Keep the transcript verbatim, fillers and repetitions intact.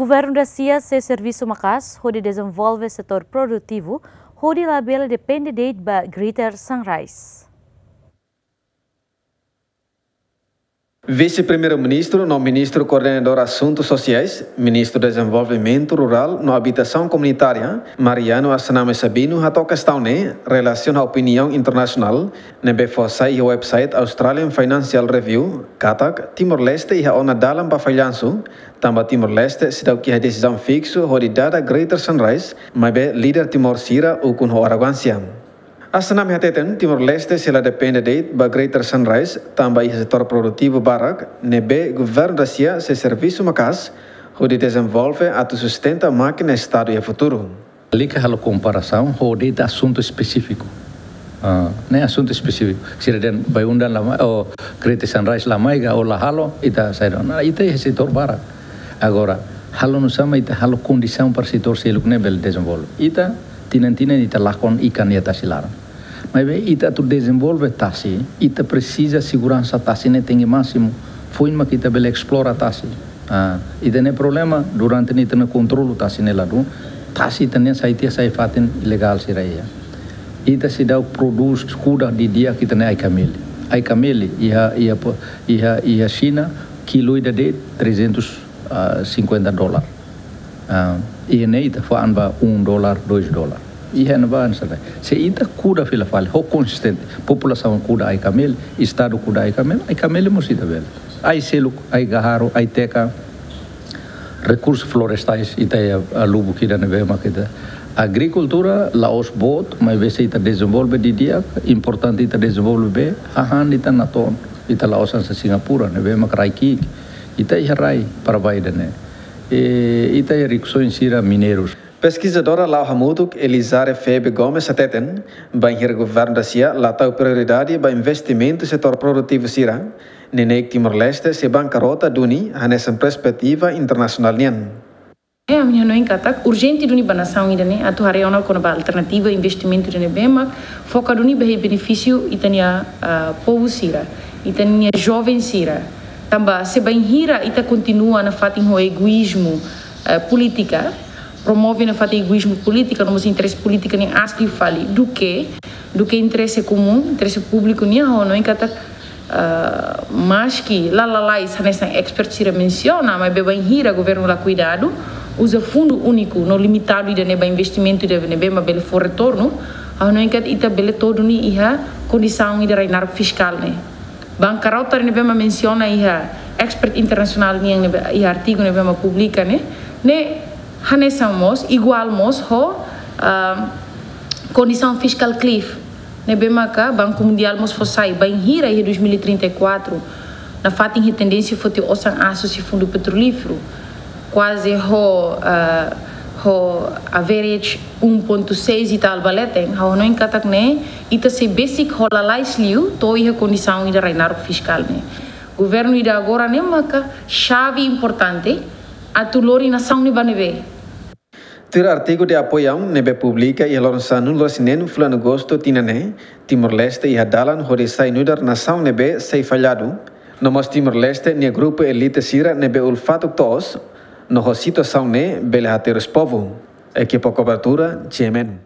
Governu Dacia sei servisu maka'as hodi dezenvolve setór produtivu, hodi labele depende de'it ba Greater Sunrise. Vise-Primeiru-Ministru no Ministru Koordenadór Asuntu Sosiais, Ministru Dezenvolvimentu Rurál no Abitasaun Komunitária, Mariano Assanami Sabino, hato'o kestaun ne'e relasiona ho opiniaun internasionál ne'ebé fó sai iha website Australian Financial Review katak Timor-Leste iha ona dalan ba fallansu, tanba Timor-Leste seidauk iha desizaun fiksu hodi dada Greater Sunrise, maibé líder Timor sira ukun ho arrogánsia. Assanami hateten, Timor-Leste sei la depende de'it ba Greater Sunrise, tanba iha setór produtivu barak ne'ebé Governu Dacia sei servisu maka'as hodi dezenvolve atu sustenta mákina Estadu iha futuru. Lalika halo komparasaun ho de'it asuntu espesífiku. Ah, ne'e asuntu espesífiku. Sira dehan Bayu-Undan la mai, ou Greater Sunrise la mai ka, ou la halo, ita saida. Nah, ita iha setór barak. Agora, halo nusá mak ita halo kondisaun para setór seluk ne'e bele dezenvolve. Ita, tinan-tinan ita lakon ikan iha tasi laran. Maibé ita atu dezenvolve tasi, ita presiza seguransa tasi ne'e tenke másimu. Foin mak ita bele esplora tasi. Ah, ita-nia problema, durante ne'e ita-nia kontrolu tasi ne'e la dún. Tasi ita-nia sai tiha sai fatin ilegál sira iha. Ita seidauk prodús, kuda didi'ak ita-nia ai-kameli. Ai-kameli iha, iha po-, iha, iha Xina, kilu ida de'it trezentos e cinquenta dólar. Ah, iha ne'e ita fa'an ba um dólar, dois dólar. Iha ne'ebá hanesan ne'e. Se ita kuda fila fali, ho konsistente, populasaun kuda ai-kameli, Estadu kuda ai-kameli, ai-kameli mós ita bele. Ai seluk, ai-gaharu, ai-teka, rekursus florestais, ita iha, ah, lubuk ida ne'ebé mak ita. Agrikultura la'ós boot, maibé se ita dezenvolve didi'ak, importante ita dezenvolve bee, hahán ita natoon, ita la'ós hanesan Singapura, ne'ebé mak rai ki'ik, ita iha rai para ba ida-ne'e. E, ita iha rikusoin sira mineirus. Peskizadora la'o hamutuk Elizare Febe Gomes hateten, bainhira Governu Dacia la tau prioridade ba investimentu setór produtivu sira, neineik Timor-Leste sei bankarota duni hanesan perspetiva internasionál nian. Ami hanoin katak urjente duni ba nasaun ida-ne'e atu haree ona kona-ba alternativa investimentu ida ne'ebé mak foka duni ba iha benefísiu ita-nia, ah, povu sira, ita-nia joven sira. Tanba se bainhira ita kontinua nafatin ho egoízmu, eh, polítika, promove nafatin egoízmu polítika, no mós interese polítika nian aas liu fali, duké, duké interese komún, interese públiku nian, ha'u hanoin katak, ah, maski la lalais hanesan expert sira mensiona, maibé bainhira governu la kuidadu, uza fundu úniku no limitadu ida-ne'e ba investimentu ida ne'ebé mak bele fó retornu, ha'u hanoin katak ita bele to'o duni iha kondisaun ida rai naruk fiskál ne'e. Bankarota ne'ebé mak mensiona iha expert internasionál nian ne'ebé, iha artigu ne'ebé mak publika ne'e, ne'e hanesan mós, iguál mós ho, ah, kondisaun fiskál cliff ne'ebé maka Banku Mundiál mós fó sai, bainhira iha dois mil e trinta e quatro, nafatin iha tendénsia foti osan asu husi fundu petrolíferu, kuaze ho, ah, ho average um ponto seis e tal ba leten, ha'u hanoin katak ne'e, ita sei besik ho lalais liu to'o iha kondisaun ida rai naruk fiskál ne'e. Governu ida agora ne'e maka xave importante atu lori nasaun ne'e ba ne'ebé. Tuir artigu de apoiaun ne'ebé publika iha loron sanulu-resin-neen fulan Agostu tinan ne'e, Timor-Leste iha dalan hodi sai nu'udar nasaun ne'ebé sei falladu, no mós Timor-Leste nia grupu elite sira ne'ebé ulfatuk toos, no ho situasaun ne'e bele haterus povu. Ekipa kobertura, G M N.